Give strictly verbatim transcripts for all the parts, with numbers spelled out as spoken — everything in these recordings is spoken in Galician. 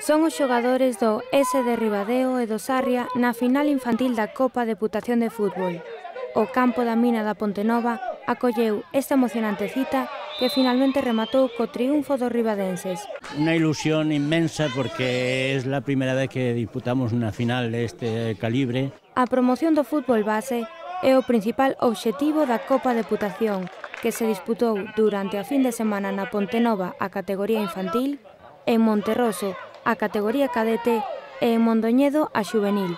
Son os xogadores do S de Ribadeo e do Sarria na final infantil da Copa Deputación de Fútbol. O campo da mina da Pontenova acolleu esta emocionante cita que finalmente rematou co triunfo dos ribadenses. Una ilusión inmensa porque es la primera vez que disputamos una final de este calibre. A promoción do fútbol base é o principal obxectivo da Copa Deputación, que se disputou durante a fin de semana na Pontenova a categoría infantil, en Monterroso a categoría cadete e en Mondoñedo a xuvenil.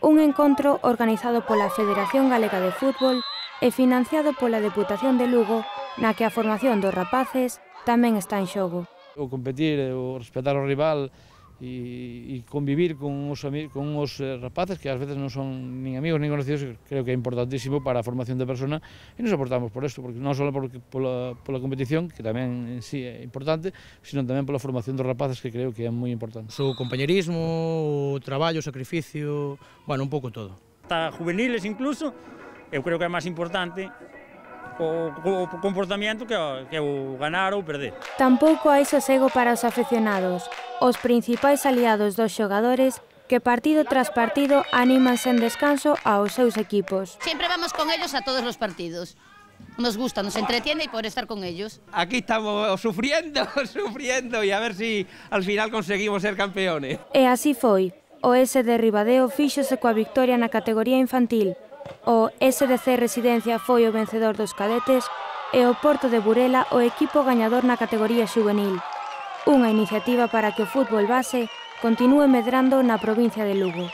Un encontro organizado pola Federación Galega de Fútbol e financiado pola Deputación de Lugo, na que a formación dos rapaces tamén está en xogo. O competir, o respetar o rival e, e convivir con os, con os rapaces que ás veces non son nin amigos nin conocidos, creo que é importantísimo para a formación de persona e nos aportamos por isto, porque non só por, pola, pola competición, que tamén en sí é importante, sino tamén pola formación dos rapaces, que creo que é moi importante. O compañerismo, o traballo, o sacrificio, bueno, un pouco todo. Hasta juveniles incluso, eu creo que é máis importante o, o comportamento que o, que o ganar ou perder. Tampouco hai sosego para os aficionados, os principais aliados dos xogadores que partido tras partido animan sen descanso aos seus equipos. Sempre vamos con ellos a todos los partidos. Nos gusta, nos entretiene y por estar con ellos. Aquí estamos sufriendo, sufriendo y a ver si al final conseguimos ser campeones. E así foi. O S de Ribadeo fíxose coa victoria na categoría infantil. O S D C Residencia foi o vencedor dos cadetes e o Porto de Burela o equipo gañador na categoría xuvenil. Unha iniciativa para que o fútbol base continúe medrando na provincia de Lugo.